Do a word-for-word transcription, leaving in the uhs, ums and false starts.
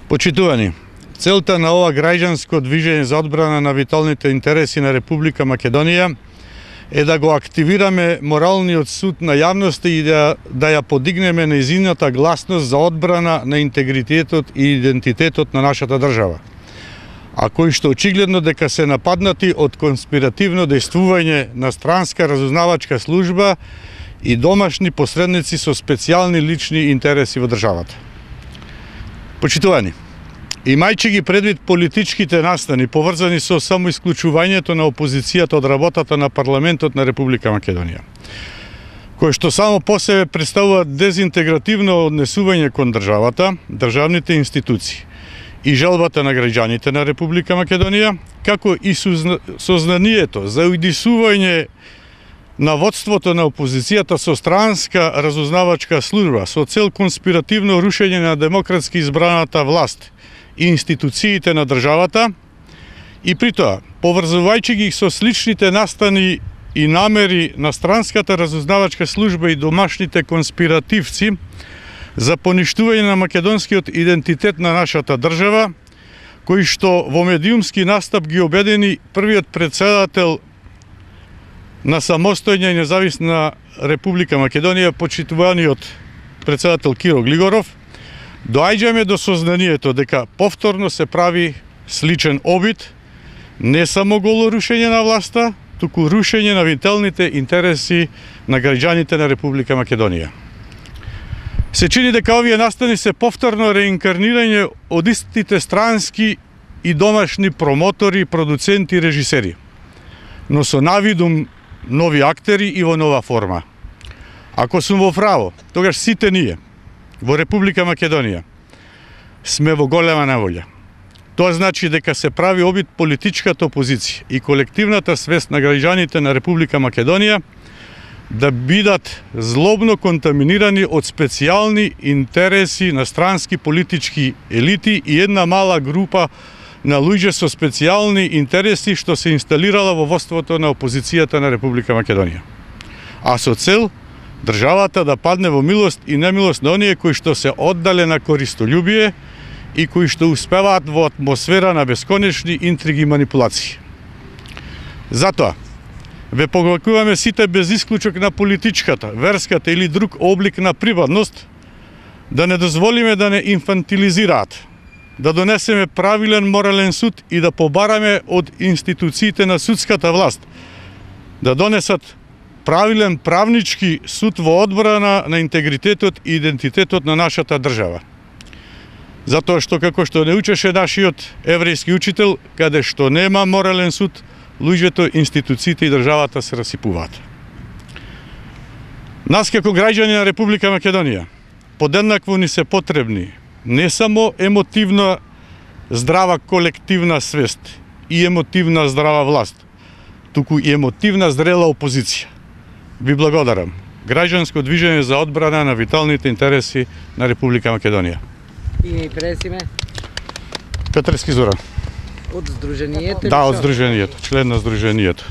Почитувани, целта на ова граѓанско движење за одбрана на виталните интереси на Република Македонија е да го активираме моралниот суд на јавноста и да, да ја подигнеме нејзината гласност за одбрана на интегритетот и идентитетот на нашата држава, а кои што очигледно дека се нападнати од конспиративно дејствување на странска разузнавачка служба и домашни посредници со специјални лични интереси во државата. Почитувани, имајќи ги предвид политичките настани поврзани со самоисклучувањето на опозицијата од работата на парламентот на Република Македонија, кој што само по себе представува дезинтегративно однесување кон државата, државните институции и желбата на граѓаните на Република Македонија, како и сознанието за уидисување на водството на опозицијата со странска разузнавачка служба со цел конспиративно рушење на демократски избраната власт и институциите на државата, и при тоа, поврзувајќи ги со сличните настани и намери на странската разузнавачка служба и домашните конспиративци за поништување на македонскиот идентитет на нашата држава, кој што во медиумски настап ги обедини првиот претседател на самостојна и независна Република Македонија, почитуваниот претседател Киро Глигоров, доаѓаме до сознанието дека повторно се прави сличен обид, не само голо рушење на власта, туку рушење на виталните интереси на граѓаните на Република Македонија. Се чини дека овие настани се повторно реинкарнирање од истите странски и домашни промотори, продуценти и режисери, но со навидум нови актери и во нова форма. Ако сум во право, тогаш сите ние во Република Македонија сме во голема неволја. Тоа значи дека се прави обид политичката опозиција и колективната свест на граѓаните на Република Македонија да бидат злобно контаминирани од специјални интереси на странски политички елити и една мала група на луѓе со специјални интереси што се инсталирала во водството на опозицијата на Република Македонија, а со цел државата да падне во милост и немилост на оние кои што се оддале на користолюбие и кои што успеваат во атмосфера на бесконечни интриги и манипулации. Затоа, ве повикуваме сите без исклучок на политичката, верската или друг облик на приватност да не дозволиме да не инфантилизираат, да донесеме правилен морален суд и да побараме од институциите на судската власт да донесат правилен правнички суд во одбрана на интегритетот и идентитетот на нашата држава. Затоа што, како што не учеше нашиот еврејски учител, каде што нема морален суд, луѓето, институциите и државата се расипуваат. Нас како граѓани на Република Македонија подеднакво ни се потребни не само емотивна здрава колективна свест и емотивна здрава власт, туку и емотивна зрела опозиција. Ви благодарам. Граѓанско движење за одбрана на виталните интереси на Република Македонија. Име и презиме? Петрески Зоран. Од Сдруженијето? Да, од Сдруженијето, член на Сдруженијето.